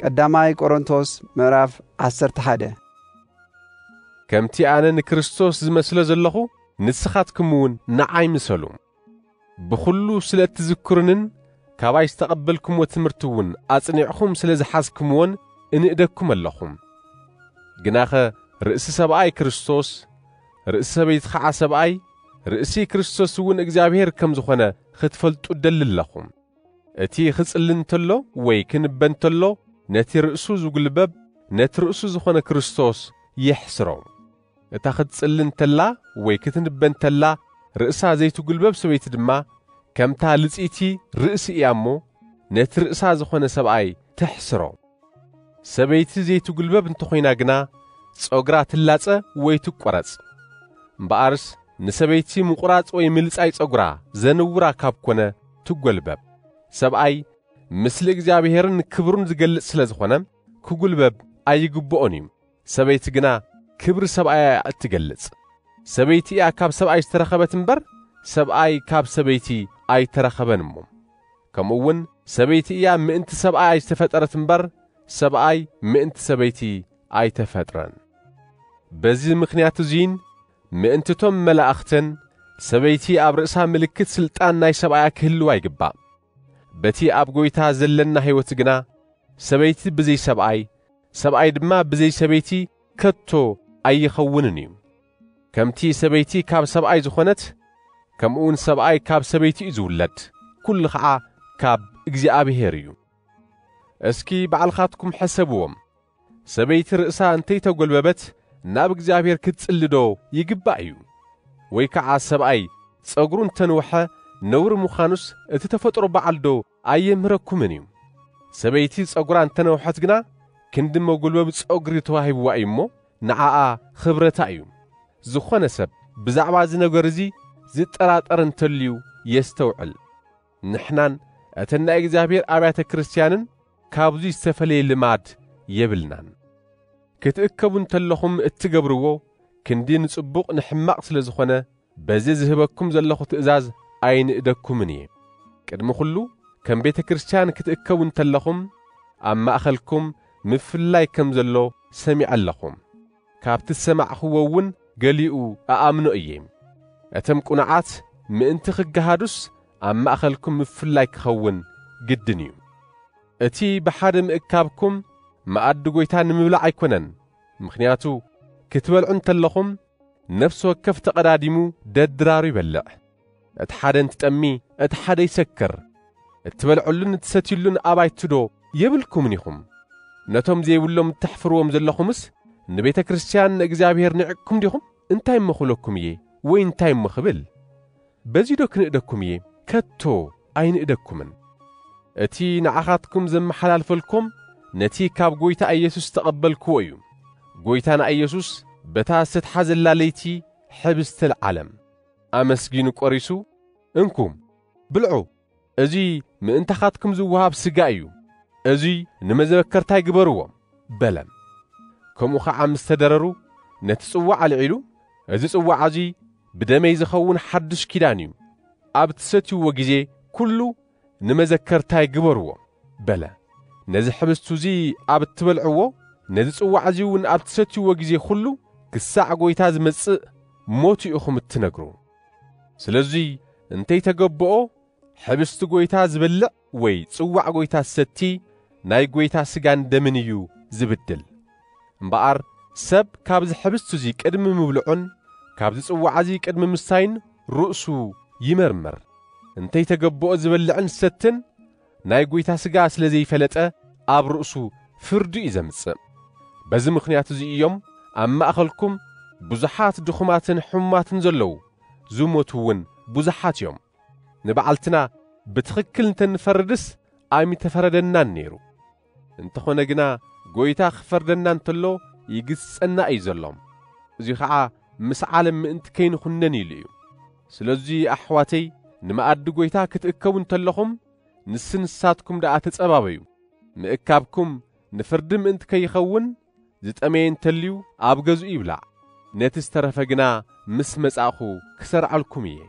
ቀዳማይ ቆሮንቶስ ምዕራፍ ዓሰርተ ሓደ። ከምቲ ኣነ ንክርስቶስ ዝመስሎ ዘለኹ፣ ንስኻትኩም እውን ንዓይ ምሰሉ። ብኹሉ ስለ እትዝክሩንን ካባይ ዝተቐበልኩምዎ ትምህርቲ እውን ኣጽኒዕኹም ስለ ዝሓዝኩምዎን እንእደኩም ኣለኹም። ግናኸ ርእሲ ሰብኣይ ክርስቶስ፣ ርእሲ ሰበይቲ ኸዓ ሰብኣይ፣ ርእሲ ክርስቶስ እውን እግዚኣብሔር ከም ዝኾነ ክትፈልጡ እደሊ ኣለኹ። እቲ ክጽሊ እንተሎ ወይ ክንበ እንተሎ፣ ነቲ ርእሱ ዝጉልበብ፣ ነቲ ርእሱ ዝኾነ ክርስቶስ የሕስሮ። እታ ክትጽሊ እንተላ ወይ ክትንበ እንተላ ርእሳ ዘይትጉልበብ ሰበይቲ ድማ፣ ከምታ ልጽይቲ ርእሲ እያ እሞ፣ ነቲ ርእሳ ዝኾነ ሰብኣይ ተሕስሮ። ሰበይቲ ዘይትጉልበብ እንተኾይና ግና፣ ጸጉራ ትላጸ ወይ ትቆረጽ። እምበኣርስ ንሰበይቲ ምቑራጽ ወይ ምልጻይ ጸጉራ ዘንውራ ካብ ኮነ፣ ትጎልበብ። ሰብኣይ ምስሊ እግዚኣብሔርን ክብሩን ዝገልጽ ስለ ዝኾነ፣ ክጉልበብ ኣይግብኦን እዩ። ሰበይቲ ግና ክብሪ ሰብኣያ እያ እትገልጽ። ሰበይቲ እያ ካብ ሰብኣይ ዝተረኸበት እምበር፣ ሰብኣይ ካብ ሰበይቲ ኣይተረኸበን እሞ። ከምኡ እውን ሰበይቲ እያ ምእንቲ ሰብኣይ ዝተፈጠረት እምበር፣ ሰብኣይ ምእንቲ ሰበይቲ ኣይተፈጥረን። በዚ ምኽንያት እዙይን ምእንትቶም መላእኽትን፣ ሰበይቲ ኣብ ርእሳ ምልክት ሥልጣን ናይ ሰብኣያ ክህልዋ ይግባእ። በቲ ኣብ ጐይታ ዘለና ሕይወት ግና፣ ሰበይቲ ብዘይ ሰብኣይ፣ ሰብኣይ ድማ ብዘይ ሰበይቲ ከቶ ኣይኸውንን እዩ። ከምቲ ሰበይቲ ካብ ሰብኣይ ዝኾነት፣ ከምኡውን ሰብኣይ ካብ ሰበይቲ እዩ ዝውለድ፣ ኩሉ ኸዓ ካብ እግዚኣብሔር እዩ። እስኪ ባዕልኻትኩም ሕሰብዎም። ሰበይቲ ርእሳ እንተይተጎልበበት ናብ እግዚኣብሔር ክትጽሊ ዶ ይግባእ እዩ? ወይ ከዓ ሰብኣይ ጸጉሩ እንተንውሐ ነውሪ ምዃኑስ እቲ ተፈጥሮ በዓል ዶ ኣየምህረኩምን እዩ? ሰበይቲ ጸጉራ እንተነውሐት ግና ክንዲ መጎልበቢ ጸጉሪ ተዋሂብዋ እዩ እሞ ንዓኣ ኽብረታ እዩ። ዝኾነ ሰብ ብዛዕባ እዚ ነገር እዚ ዝጠራጠር እንተልዩ የስተውዕል። ንሕናን እተን ናይ እግዚኣብሔር ኣብያተ ክርስቲያንን ካብዚ ዝተፈለየ ልማድ የብልናን። ክትእከቡ እንተለኹም እትገብርዎ ክንዲ ንጽቡቕ ንሕማቕ ስለ ዝኾነ፣ በዚ ዝህበኩም ዘለኹ ትእዛዝ ኣይንእደኩምን እየ። ቅድሚ ኹሉ ከም ቤተ ክርስቲያን ክትእከቡ እንተለኹም ኣብ ማእኸልኩም ምፍልላይ ከም ዘሎ ሰሚዐ ኣለኹ። ካብቲ ዝሰማዕኽዎ እውን ገሊኡ እኣምኖ እየ። እቶም ቅኑዓት ምእንቲ ክገሃዱስ ኣብ ማእኸልኩም ምፍልላይ ክኸውን ግድን እዩ። እቲ ብሓደ ምእካብኩም መኣዲ ጐይታ ንምብላዕ ኣይኮነን። ምኽንያቱ ክትበልዑ እንተለኹም ነፍሲ ወከፍ ተቐዳዲሙ ደድራሩ ይበልዕ። እቲ ሓደ እንትጠሚ እቲ ሓደ ይሰክር። እትበልዑሉን እትሰትዩሉን ኣባይትዶ የብልኩምን ኢኹም? ነቶም ዘይብሎም እተሕፍርዎም ዘለኹምስ ንቤተ ክርስቲያን ንእግዚኣብሔር ንዕቅኩም ዲኹም? እንታይ እሞ ክብለኩም እየ? ወይ እንታይ እሞ ክብል? በዚዶ ክንእደኩም እየ? ከቶ ኣይንእደኩምን። እቲ ንዓኻትኩም ዘመሓላልፈልኩም ነቲ ካብ ጐይታ ኢየሱስ ዝተቐበልክዎ እዩ። ጐይታና ኢየሱስ በታ ዝተትሓዘላ ለይቲ ሕብስተ ለዓለም ኣመስጊኑ ቆሪሱ፣ "እንኩም፣ ብልዑ፣ እዚ ምእንታኻትኩም ዝወሃብ ስጋ እዩ፣ እዚ ንመዘከርታይ ግበርዎ" በለ። ከምኡ ኸዓ ምስ ተደረሩ፣ ነቲ ጽዋዕ ኣልዒሉ፣ "እዚ ጽዋዕ እዚ ብደመይ ዝኸውን ሓድሽ ኪዳን እዩ፣ ኣብ እትሰትይዎ ግዜ ኩሉ ንመዘከርታይ ግበርዎ" በለ። ነዚ ሕብስቱ እዚ ኣብ እትበልዕዎ፣ ነዚ ጽዋዕ እዚ እውን ኣብ እትሰትይዎ ግዜ ኩሉ፣ ክሳዕ ጐይታ ዝመጽእ ሞቱ ኢኹም እትነግሩ። ስለዚ እንተይተገብኦ፣ ሕብስቲ ጐይታ ዝበልዕ ወይ ጽዋዕ ጐይታ ዝሰቲ፣ ናይ ጐይታ ስጋን ደምን እዩ ዝብድል። እምበኣር ሰብ ካብዚ ሕብስቲ እዚ ቅድሚ ምብልዑን ካብዚ ጽዋዕ እዚ ቅድሚ ምስታይን ርእሱ ይመርምር። እንተይተገብኦ ዝበልዕን ዝሰትን ናይ ጐይታ ስጋ ስለ ዘይፈለጠ ኣብ ርእሱ ፍርዲ እዩ ዘምጽእ። በዚ ምኽንያት እዚ እዮም ኣብ ማእኸልኩም ብዙሓት ድኹማትን ሕሙማትን ዘለዉ፣ ዝሞቱ እውን ብዙሓት እዮም። ንበዓልትና ብትኽክል እንተንፈርድስ ኣይምተፈረደናን ነይሩ። እንተኾነ ግና ጐይታ ክፈርደና እንተሎ ይግስጸና እዩ ዘሎ። እዚ ኸዓ ምስ ዓለም ምእንቲ ከይንኹነን ኢሉ እዩ። ስለዚ ኣሕዋተይ፣ ንመኣዲ ጐይታ ክትእከቡ እንተለኹም ንስንሳትኩም ደኣ ተጸባበዩ። ምእካብኩም ንፍርዲ ምእንቲ ከይኸውን ዝጠመየ እንተልዩ ኣብ ገዝኡ ይብላዕ። ነቲ ዝተረፈ ግና ምስ መጻእኹ ክሰርዓልኩም እየ።